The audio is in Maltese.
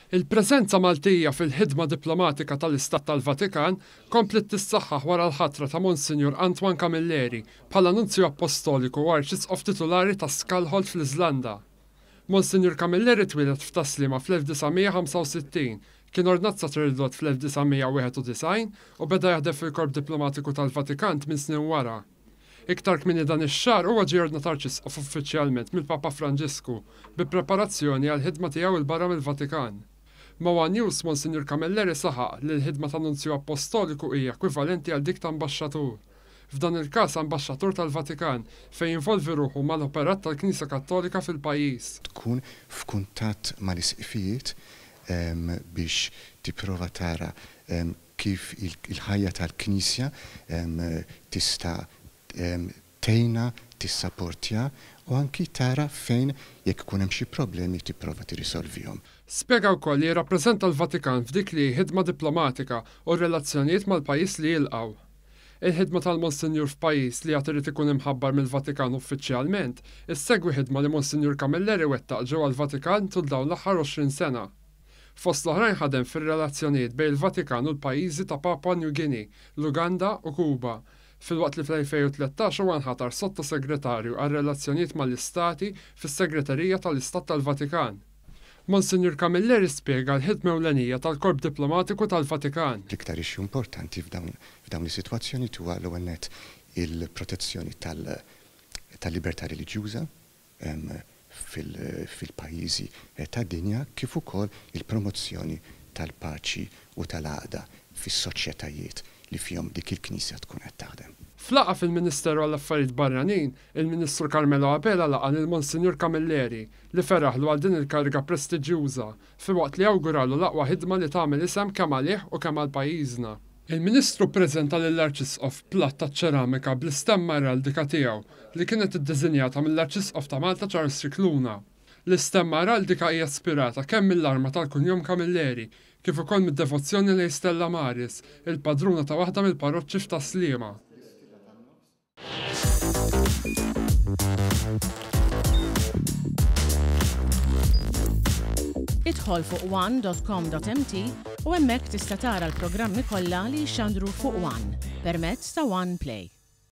Il-preżenza Maltija fil-ħidma diplomatika tal-Istat tal-Vatikan kompliet tissaħħaħ wara l-ħatra ta' Monsinjur Antoine Camilleri bħala Nunzju Appostoliku u Arċisqof Titulari ta' Skalholt fl-Iżlanda. Monsinjur Camilleri twieled f'Tas-Sliema fl-1965, kien ordnat saċerdot fl-1991 u beda jaħdem fil-Korp Diplomatiku tal-Vatikan tminn snin wara. Iktar kmieni dan ix-xahar huwa ġie ordnat Arċisqof uffiċjalment mill-Papa Franġisku bi preparazzjoni għall-ħidma tiegħu 'l barra mill-Vatikan. Ma' one News, Monsinjur Camilleri saħaq li l-ħidma ta' Nunzju Appostoliku hija ekwivalenti għal dik ta' ambaxxatur. F'dan il-każ ambaxxatur tal-Vatikan fejn jinvolvi ruħu mal-operat tal-Knisja Kattolika fil-pajjiż. Tkun f'kuntatt mal-isqfijiet biex tipprova tara kif il-ħajja tal-Knisja tista' tgħinha, tissaportja u anki tara fejn jekk ikun hemm xi problemi tipprova tirrisolvihom. Spjega wkoll li jirrappreżenta l-Vatikan f'dik li hi ħidma diplomatika u r-relazzjonijiet mal-pajjiż li jilqgħu. Il-ħidma tal-Monsinjur f'pajjiż li għad irid ikun imħabbar mill-Vatikan uffiċjalment issegwi ħidma li Monsinjur Camilleri wettaq ġewwa l-Vatikan tul dawn l-aħħar 20 sena. Fost l-oħrajn ħadem fir-relazzjonijiet bejn il-Vatikan u l-pajjiżi ta' Papua New Guinea, l-Uganda u Kuba, filwaqt li fl-2013 huwa nħatar Sotto-Segretarju għar-Relazzjonijiet mal-Istati fis-Segreterija tal-Istat tal-Vatikan. Monsinjur Camilleri spjega l-ħidma ewlenija tal-Korp Diplomatiku tal-Vatikan. L-iktar issue importanti f'dawn is-sitwazzjonijiet huwa l-ewwel nett il-protezzjoni tal-libertà reliġjuża, fil-pajjiżi tad-dinja kif ukoll il-promozzjoni tal-paċi u tal-għaqda fis-soċjetajiet li fihom dik il-Knisja tkun qed taħdem. F'laqgħa fil-Ministeru għall-Affarijiet Barranin, il-Ministru Carmelo Abela laqa' lil Monsinjur Camilleri li feraħlu għal din il-kariga prestiġjuża filwaqt li awguralu l-aqwa ħidma li tagħmel isem kemm għalih u kemm għal pajjiżna. Il-Ministru ppreżenta lill-Arċisqof platt taċ-ċeramika bl-istemma eraldika tiegħu li kienet iddiżinjata mill-Arċisqof ta' Malta Charles Scicluna. L-istemma eraldika hija ispirata kemm mill-arma tal-kunjom Camilleri kif ukoll mid-devozzjoni lejn Stella Maris, il-padruna ta' waħda mill-parroċċi f'Tas-Sliema. Idħol fuq one.com.mt u hemmhekk tista' tara l-programmi kollha li jixxandru fuq One permezz ta' One Play.